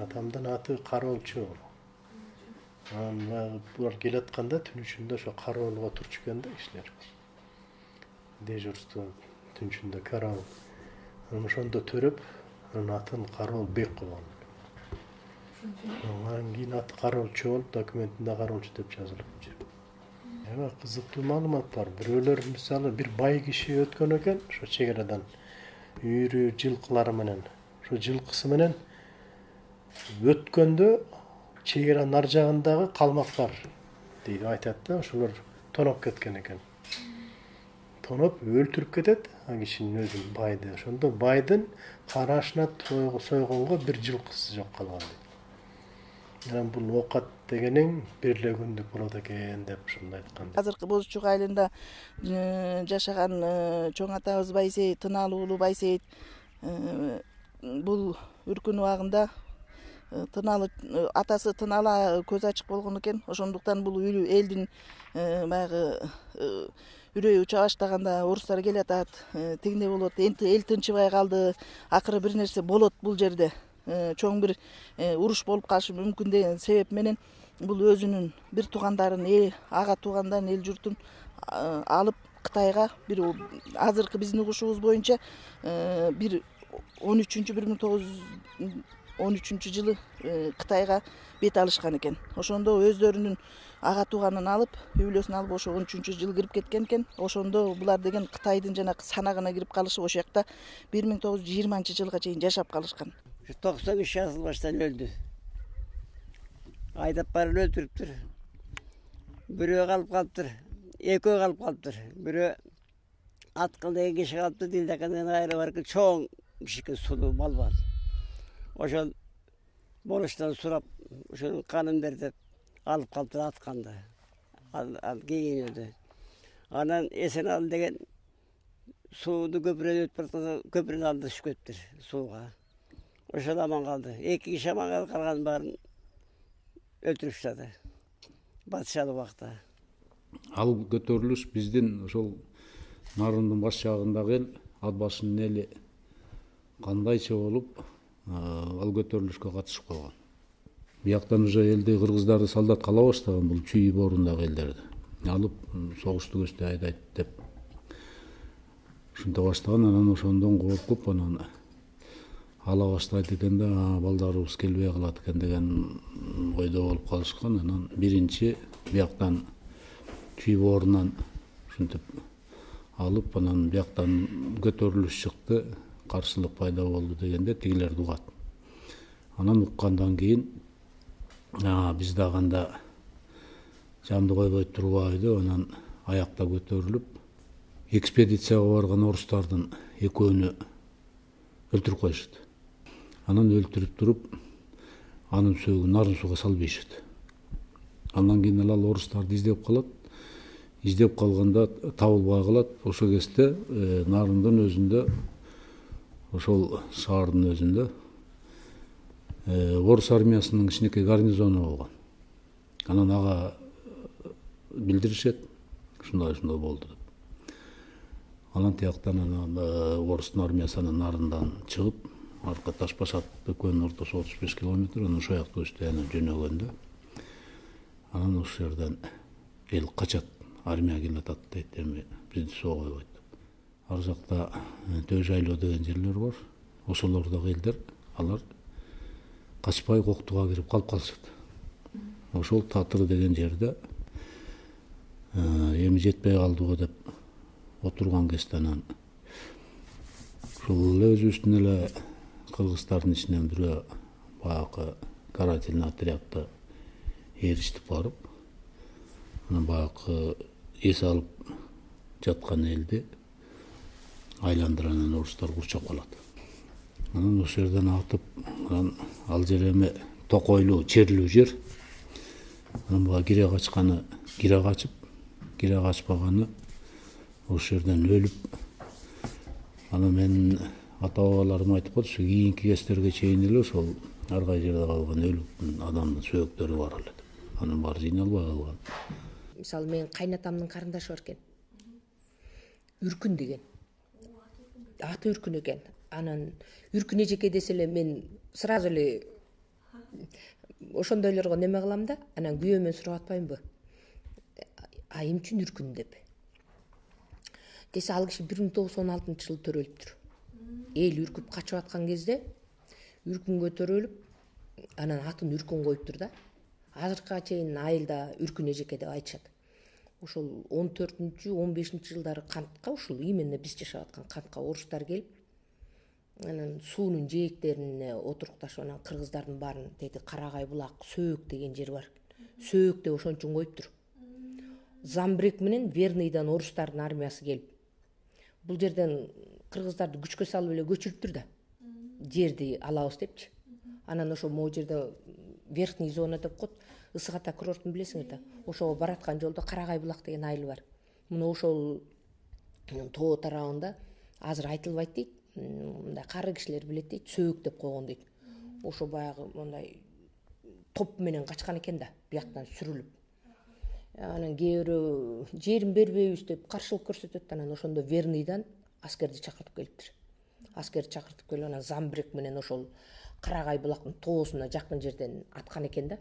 Атамдын аты Кароолчу. Анан булар келатканда түн ичинде ошо кароолго турчу экен да кишилер. Дежурство түн ичинде караол. Анан ошондо төрөп, анын атын Кароолбек койгон. Анан кийин аты Кароолчу болуп, документинде Кароолчу деп жазылып жүр. Эми кызыктуу маалымат бар. Бирөөлөр мисалы бир бай киши өткөн экен, ошо чек арадан үйрү жылкылары менен, ошо жылкысы менен өткөндө чек аранын ар жагындагы калмактар дейт, айтат да, ошолор тоноп кеткен экен. Тоноп өлтүрүп кетет а кишинин өзүн, байды. Ошондо байдын карашына сойгонго бир жылкысы жок калган дейт. Анан бул оокат дегениң бир эле күндүк болот экен деп ушундай айткан. Азыркы Боз Чук айылында жашаган чоң атабыз Байсейит, Тынаалы уулу Байсейит бул үркүн убагында Тынаалы атасы Тынаалы көз ачык болгон экен. Ошондуктан бул элдин баягы үрөйү уча баштаганда орустар келатат, тигине болот, эл тынчыбай калды, акыры бир нерсе болот бул жерде. Чоң бир уруш болуп калышы мүмкүн деген себеп менен бул өзүнүн бир туугандарын, ага туугандарын, эл журтун алып Кытайга бир азыркы биздин угушубуз боюнча бир 1913 жылы Кытайга бет алышкан экен. Ошондо өздөрүнүн ага тууганын алып, үй бүлөсүн алып ошо 13 жылы кирип кеткен экен. Ошондо булар деген Кытайдын жанагы санагына кирип калышып, ошол жакта 1920 жылга чейин жашап калышкан. 93 жазылбаштан өлдү. Айдап барып өлтүрүптүр. Бирөө калып калыптыр, экөө калып калыптыр. Бирөө Аткыл деген киши калыптыр, Дилдакандан айры бар экен, чоң киши сулуу балбан. Ошол болуштан сурап, ошонун канын бер деп алып калыптыр атканды. Ал кийин өлдү. Анан Эсеналы деген сууну көпүрөдөн өтүп баратканда көпүрөнүн алдына түшүп кетиптир сууга. Ошол аман калды. 2 киши аман калды, калганын баарын өлтүрүп таштады. Батышалы убакта. Ал көтөрүлүш биздин ошол Нарындын баш жагындагы эл, ат башынын эли кандайча болуп ал көтөрүлүшкө катышып калган. Бияктан уже элди кыргыздарды солдатка ала баштаган, бул Чүй боорундагы элдерди. Алып согушту көчтө айдайт деп ушинте баштаган. Анан ошондон коркуп, анан ала баштайт экен да, балдарыбыз келбей калат экен деген ойдо болуп калышкан. Анан биринчи бияктан Чүй боорунан ушинтип алып, анан бияктан көтөрүлүш чыкты, каршылык пайда болду дегенде тигилерди угат. Анан уккандан кийин биз дагы анда жанды койбой турбайбы, анан аякта көтөрүлүп экспедицияга барган орустардын экөөнү өлтүрүп коюшат. Анан өлтүрүп туруп, анын сөөгүн нарын сууга салып ийишет. Андан кийин ал орустарды издеп калат. Издеп калганда табылбай калат. Ошол кезде Нарындын өзүндө, ошол шаардын өзүндө орус армиясынын кичинекей гарнизону болгон. Анан ага билдиришет, ушундай болду деп. Анан тияктан орустун армиясы Нарындан чыгып, арка Ташбашат экөөнүн ортосу 35 километр, анан ошол жакта өстөй жөнөгөндө. Анан ошол жерден эл качат, армия келатат дейт, эми бизди соо койбойт. Ар жакта Төө жайлоо деген жерлер бар. Ошолордогу элдер, алар качпай Коктуга кирип калып калышат. Ошол Татыр деген жерде эми жетпей калдыбы деп отурган кезде анан ушул эле өзүбүздүн эле кыргыздардын ичинен бирөө баягы карательный отрядты эрiştip барып, анан баягы эс алып жаткан элди айландырып анан орустар курчап калат. Анан ошол жерден атып, анан ал жер эме токойлуу, черлүү жер. Анан буга кире качканы кире качып, кире качпаганы ошол жерден өлүп. Анан менин ата бабаларым айтып коет, ушу кийинки кездерге чейин эле ошол ар кай жерде калган өлүп адамдын сөөктөрү бар эле. Анын баары жыйналбай калган. Мисалы менин кайнатамдын карындашы бар экен. Үркүн деген. Аты Үркүн экен. Анан Үркүн эжеке десе эле мен сразу эле ошондойлорго неме кылам да, анан күйөөмөн сурап атпаймынбы? Айым үчүн Үркүн деп. Десе ал киши 1916-жылы төрөлүптүр. Эл үркүп качып аткан кезде Үркүнгө төрөлүп, анан атын Үркүн коюптур да. Азыркыга чейин айылда Үркүн эжеке деп айтышат. Ошол 14-15 жылдары кантка, ушул именно биз жашап аткан кантка орустар келип, анан суунун жээктерине отурукташып, анан кыргыздардын баарын деди Карагай булак, Сөөк деген жер бар. Сөөк деп ошон үчүн коюптур. Замбрек менен Верныйдан орустардын армиясы келип, бул жерден кыргыздарды күчкө салып эле көчүрүптүр да. Жерди алабыз депчи. Анан ошо могу жерде верхний зона деп коет, Ысык Ата курортун билесиңер да. Ошого бараткан жолдо Карагай булак деген айыл бар. Мына ошол тоо тарабында азыр айтылбайт дейт. Мындай кары кишилер билет дейт, Сөөк деп койгон дейт. Ошо баягы мындай топ менен качкан экен да, бияктан сүрүлүп. Анан кээ бирөө жерин бербейбиз деп каршылык көрсөтөт, анан ошондо Верныйдан аскерди чакыртып келиптир. Аскерди чакыртып келип, анан Замбрек менен ошол Карагай булактын тоосуна жакын жерден аткан экен да.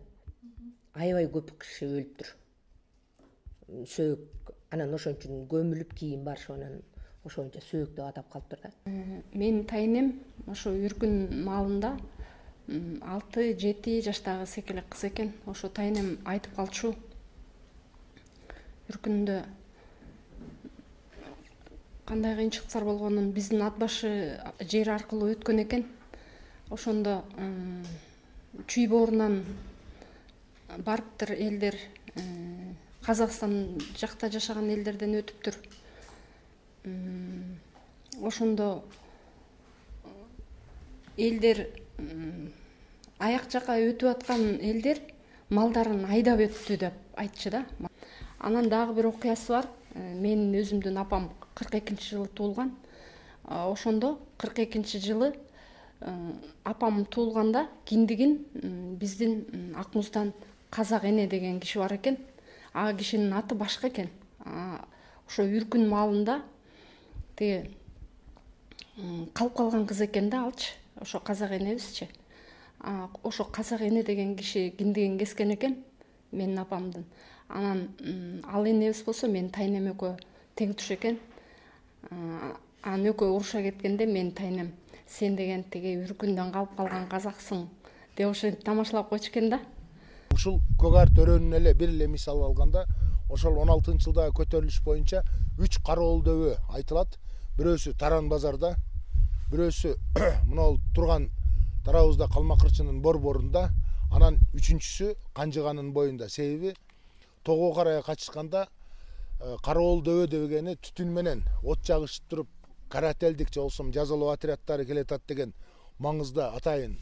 Аябай көп киши өлүптүр. Сөөк, анан ошон үчүн көмүлүп кийин барышып, анан ошончо Сөөк деп атап калыптыр да. Менин тайнем ошо Үркүн маалында 6-7 жаштагы секелек кыз экен. Ошо тайнем айтып калчу. Үркүндө кандай кыйынчылыктар болгонун биздин ат башы жер аркылуу өткөн экен. Ошондо чүй боорунан барыптыр элдер, Казакстан жакта жашаган элдерден өтүптүр. Ошондо элдер аяк жака өтүп аткан элдер малдарын айдап өттү деп айтчу да. Анан дагы бир окуясы бар. Менин өзүмдүн апам 42-жылы туулган. Ошондо 42-жылы апам туулганда киндигин биздин Акмуздан Казак эне деген киши бар экен. А кишинин аты башка экен. Ошо Үркүн маалында тиги калып калган кыз экен да алчы. Ошо Казак энебизчи. Ошо Казак эне деген киши киндигин кескен экен менин апамдын. Анан ал энебиз болсо менин тайнем экөө тең туш экен. Анан экөө уруша кеткенде менин тайнем сен деген тиги Үркүндөн калып калган казаксың деп ошентип тамашалап койчу экен да. Ушул көк ар төрөнүн эле бир эле мисал алганда, ошол 16-жылдагы көтөрүлүш боюнча 3 кароол дөбө айтылат. Бирөөсү Таран базарда, бирөөсү мынау турган тарабыбызда Калма кырчынын борборунда, анан үчүнчүсү Канжыганын боюнда. Себеби тоого карай качышканда кароол дөбө дегени түтүн менен от жагышып туруп, карателдик же болбосо жазалоо отряддары келатат деген маңызда атайын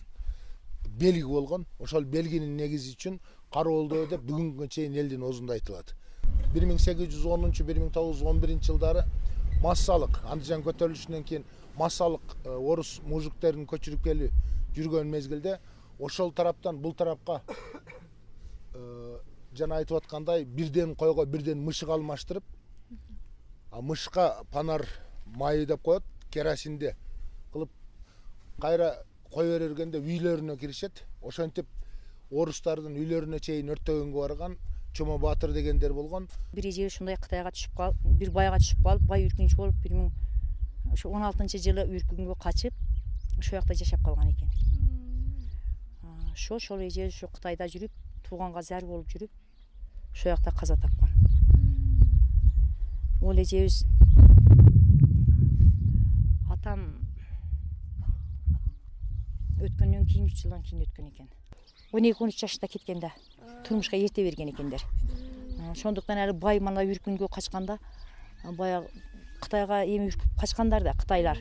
белги болгон. Ошол белгинин негизи үчүн кароол дөбө деп бүгүнгү чейин элдин оозунда айтылат. 1810-1911 жылдары массалык Андыжан көтөрүлүшүнөн кийин массалык орус мужиктерин көчүрүп келип жүргөн мезгилде ошол тараптан бул тарапка жана айтып аткандай бирден койго бирден мышык алмаштырып, мышка панар майы деп коет, керосинде кылып кайра кой бергенде үйлөрүнө киришет. Ошентип орустардын үйлөрүнө чейин өрттөгөнгө барган Чомо Баатыр дегендер болгон. Бир эже ушундай Кытайга түшүп калып, бир байга түшүп калып, бай үркүнчү болуп 2016-жылы Үркүнгө качып, ошол жакта жашап калган экен. Ошол эже ушу Кытайда жүрүп, тууганга зар болуп жүрүп, ошол жакта каза тапкан. Ол эжебиз атам өткөндөн кийин 3 жылдан кийин өткөн экен. 12-13 жашта кеткен да. Турмушка эрте берген экендер. Ошондуктан эле бай мана үркүнгө качканда баягы Кытайга эми үркүп качкандар да, кытайлар.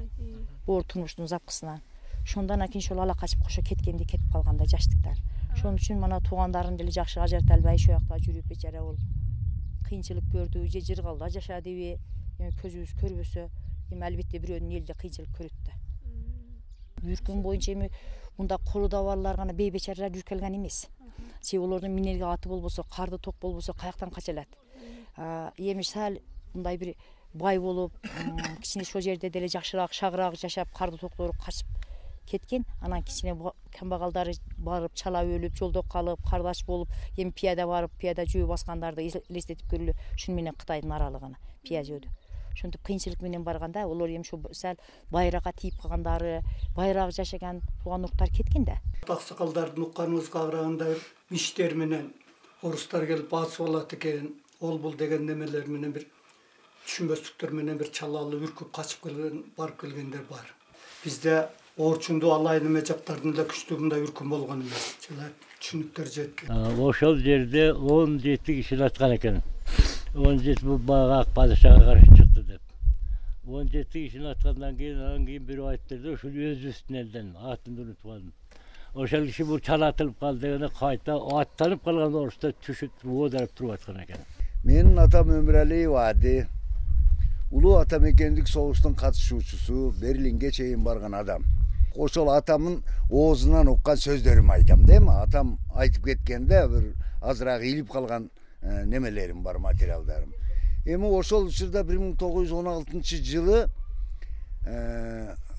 Оор турмуштун запкысынан. Ошондон кийин ошол ала качып кошо кеткенде кетип калганда жаштыктан. Ошон үчүн мана туугандарын деле жакшы ажырата албай ошол жакта жүрүп бечара бол кыйынчылык көрдү, же жыргалда жашадыбы, эми көзүбүз көрбөсө, эми албетте бирөөнүн элде кыйынчылык көрөт да. Үркүн боюнча эми мында колуда барлар гана бейбечаралар жүрө алган эмес. Себеби олордун минерге аты болбосо, карды ток болбосо каяктан кача алат. Эми сал мындай бир бай болуп, кичине ошол жерде деле жакшыраак, шагыраак жашап, карды токтор качып кеткен. Анан кичине камбагалдары барып чалап өлүп, жолдо калып, кардаш болуп, эми пияда барып, пияда жөө баскандарды элестетип көрүлү. Ушуну менен Кытайдын аралыгына пия жөөдү. Ошентип кыйынчылык менен барганда, олор эми ошо сал байракка тийип калгандары, байраак жашаган тууган уруктар кеткен да. Аксакалдардын укканыбызга караганда иштер менен орустар келип басып алат экен, ол бул деген немелер менен бир түшүнбөстүктөр менен бир чалалы үркүп качып келген, барып келгендер бар. Бизде Орчунду алайын эме жактардын эле күчтүү мындай үркүн болгон эмес. Жана түшүнүктөр жеткен. Ошол жерде 17 киши аткан экен. 17 бул багак падышага каршы чыкты деп. 17 кишини аткандан кийин бирөө айтты да, ушул өзүбүздүн элден атын унутуп калдым. Ошол киши бул чалатылып калды дегенде кайта аттанып калган орустар түшүп оодарып туруп аткан экен. Менин атам Өмүралиев Ади. Улуу атамекендик согуштун катышуучусу, Берлинге чейин барган адам. Ошол атамдын оозунан уккан сөздөрүмү айтам да эми. Атам айтып кеткенде бир азыраак илип калган немелерим бар, материалдарым. Эми ошол учурда 1916-жылы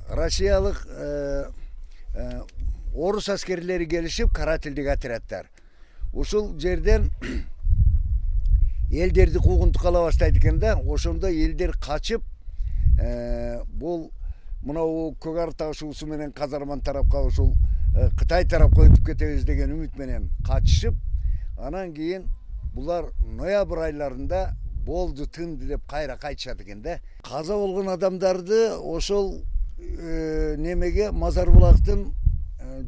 Россиялык орус аскерлери келишип, карательдик отряддар. Ошол жерден элдерди куугунтукка ала баштайт экен да. Ошондо элдер качып, бул мынау көк ар ташуусу менен казарман тарапка, ошол Кытай тарапка өтүп кетебиз деген үмүт менен качышып, анан кийин булар ноябрь айларында болду, тынды деп кайра кайтышат экен да. Каза болгон адамдарды ошол немеге Мазар булактын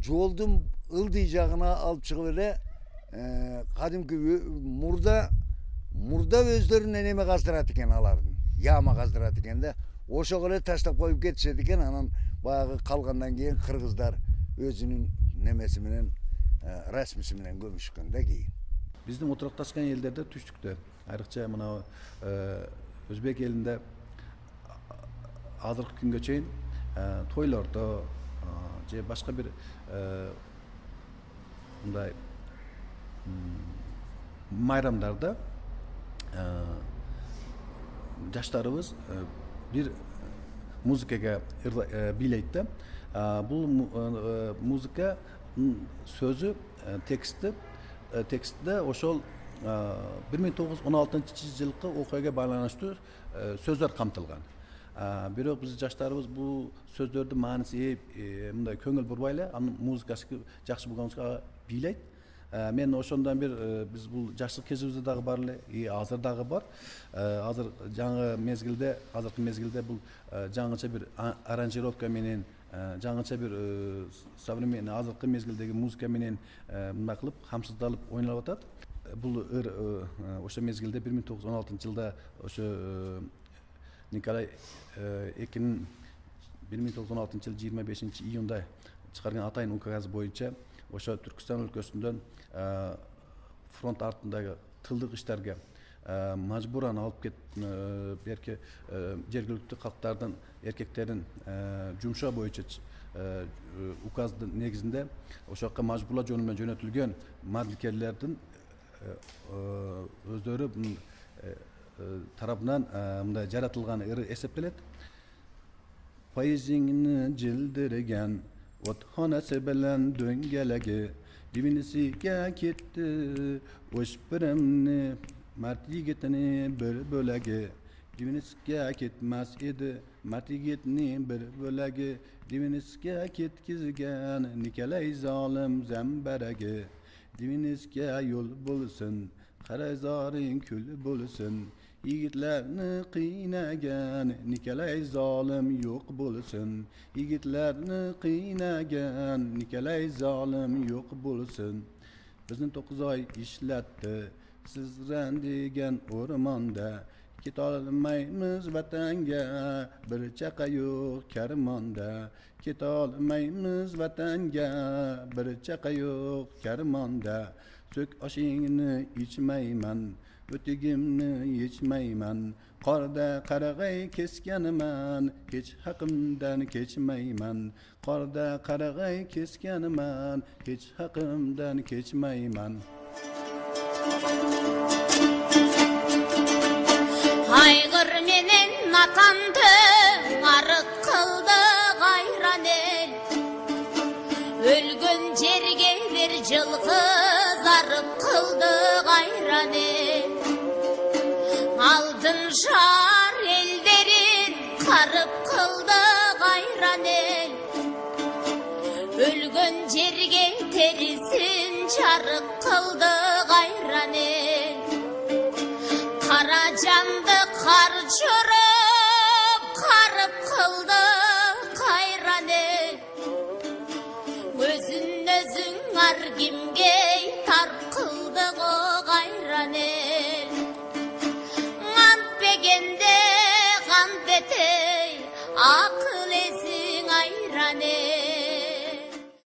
жолдун ылдый жагына алып чыгып эле кадимки мурда өздөрүнө неме каздырат экен, алардын яма каздырат экен да. Ошого эле таштап коюп кетишет экен. Анан баягы калгандан кийин кыргыздар өзүнүн немеси менен, расмиси менен көмүшкөн да кийин. Биздин отурукташкан элдерде түштүктө, айрыкча мына өзбек элинде азыркы күнгө чейин тойлордо же башка бир мындай майрамдарда жаштарыбыз бир музыкага бийлейт да. Бул музыка сөзү, текстте ошол 1916-жылкы окуяга байланыштуу сөздөр камтылган. Бирок биз жаштарыбыз бул сөздөрдүн мааниси мындай көңүл бурбай эле, анын музыкасы жакшы болгонубузга бийлейт. Мен ошондон бир биз бул жаштык кезибизде дагы бар эле, азыр дагы бар. Азыр жаңы мезгилде, азыркы мезгилде бул жаңыча бир аранжировка менен, жаңыча бир современный азыркы мезгилдеги музыка менен мындай кылып камсыздалып ойнолуп атат. Бул ошо мезгилде 1916-жылда ошо Николай II 1916-жылы 25-июнда чыгарган атайын указы боюнча ошо Түркүстан өлкөсүндөн фронт артындагы тылдык иштерге мажбуран алып берки жергиликтүү калктардын эркектерин жумшоо боюнча указдын негизинде ошол жака мажбурлоо жолу менен жөнөтүлгөн мадилкерлердин өздөрү тарабынан мындай жаратылган ыры эсептелет. Поэзияны жылдырган отхонасы белен дөңгелеги дивинисиге кетти өшпүрөмнү март жигитини бир бөлеги дивиниске кетмес эди март жигитини бир бөлеги дивиниске кеткизген Николай залым зембереги дивиниске yol bulsun Karazarın kül bulsun Yigitlerini kıynagan Nikolay zalim yok bulsun Yigitlerini kıynagan Nikolay zalim yok bulsun bizni 9 oy ishlatdi sizrandigan o'rmonda ketolmaymiz vatanga bir chaqa yo'q karmonda ketolmaymiz vatanga bir chaqa yo'q karmonda so'k oshingni ichmayman o'tigimni yechmayman qorda qarag'ay kesganiman hech haqimdan kechmayman qorda qarag'ay kesganiman hech haqimdan kechmayman Aygır menen atandı arık kıldı gayran el Ölgün jerge bir жылгы zarıp kıldı gayran el Aldın şar ellerin karıp kıldı gayran el Ölgün jerge terisin çarık kıldı gayran el Kara candı kar çörüp karıp kıldı kayran el Özün özün ar kimge tar kıldı o gayran el Ant begende gant etey akı